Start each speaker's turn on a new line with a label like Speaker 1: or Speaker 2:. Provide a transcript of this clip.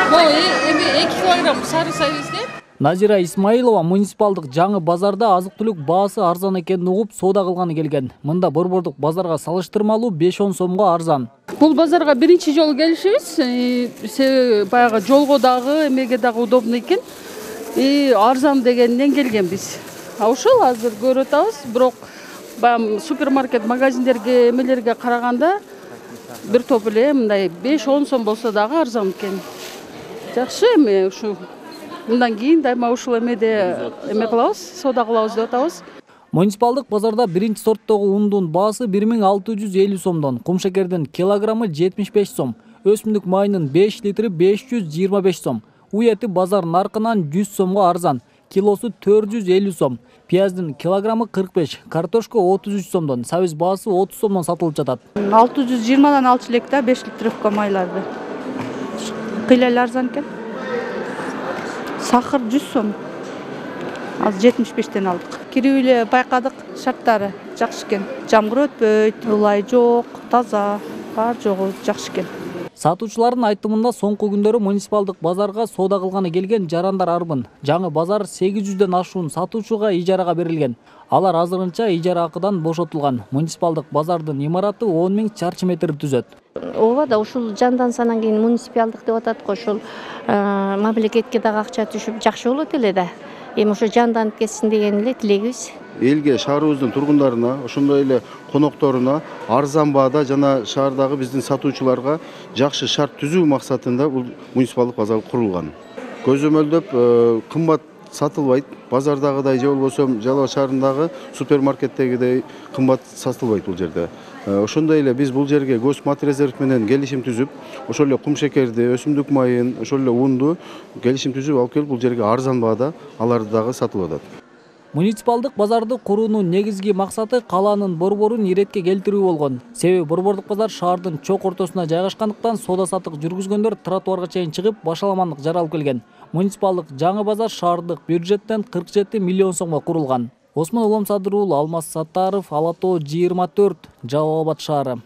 Speaker 1: Эми 2 килограмм сары сайбызде.
Speaker 2: Назира Исмаилова муниципалдык жаңы базарда азык-түлүк баасы арзан экенин угуп соода кылганы келген. Мында борбордук базарга салыштырмалуу 5-10 сомго арзан.
Speaker 1: Бул базарга биринчи жолу келишибиз. Себеби баягы жолго дагы, эмеге дагы удобно экен. Арзан дегенден келгенбиз. Ошол азыр көрүп атабыз, бирок баягы супермаркет, магазиндерге, эмелерге караганда бир топ эле мындай 5-10 сом болсо дагы арзан экен. Жакшы эми ушу мындан кийин дайыма ушул эмеде эме кылабыз, соода кылабыз деп атабыз.
Speaker 2: Муниципалдык базарда биринчи сорттогу ундун баасы 1650 сомдон, кумшекердин килограммы 75 сом, өсүмдүк майынын 5 литри 525 сом, уй эти базар наркынан 100 сомго арзан, килосу 450 сом, пияздын килограммы 45, картошка 33 сомдон, сабиз баасы 30 сомдон сатылып жатат.
Speaker 3: 620дан алчу элек да 5 литровка майларды. Кыйла эле арзан экен. Сахар 100 сом. Азыр 75тен алдык. Кирип эле байкадык, шарттары жакшы экен. Жамгыр өтпөйт, ылай жок, таза, бар жогу жакшы экен.
Speaker 2: Сатуучулардын айтымында соңку күндөрү муниципалдык базарга соода кылганы келген жарандар арбын. Жаңы базар 800ден ашуун сатуучуга ижарага берилген. Алар азырынча ижара акыдан бошотулган. Муниципалдык базардын имараты 10 000 чарчы метр түзөт.
Speaker 4: Ооба да ушул жандансанан кийин муниципалдык деп атат го, ушул мамлекетке дагы акча түшүп жакшы болот эле да. Эми ошо жанданып кетсин деген эле тилегибиз.
Speaker 5: Элге, шаарыбыздын тургундарына, ошондой эле конокторуна арзан баада жана шаардагы биздин сатуучуларга жакшы шарт түзүү максатында бул муниципалдык базар курулган. Көзөмөлдөп кымбат сатылбайт, базардагыдай же болбосо Жалал Абад шаарындагы супермаркеттегидей кымбат сатылбайт бул жерде. Ошондой эле биз бул жерге Госпотребнадзор менен келишим түзүп, ошол эле кумшекерди, өсүмдүк майын, ошол эле унду келишим түзүп алып келип бул жерге арзан баада аларды дагы сатылып атат.
Speaker 2: Муниципалдык базарды куруунун негизги максаты калаанын борборун иретке келтирүү болгон. Себеби борбордук базар шаардын чок ортосуна жайгашкандыктан соода саттык жүргүзгөндөр тротуарга чейин чыгып башаламандык жаралып келген. Муниципалдык жаңы базар шаардык бюджеттен 47 миллион сомго курулган. Осмон Улам Садыр уулу, Алмаз Саттаров, Ала Тоо 24, Жалал Абад шаары.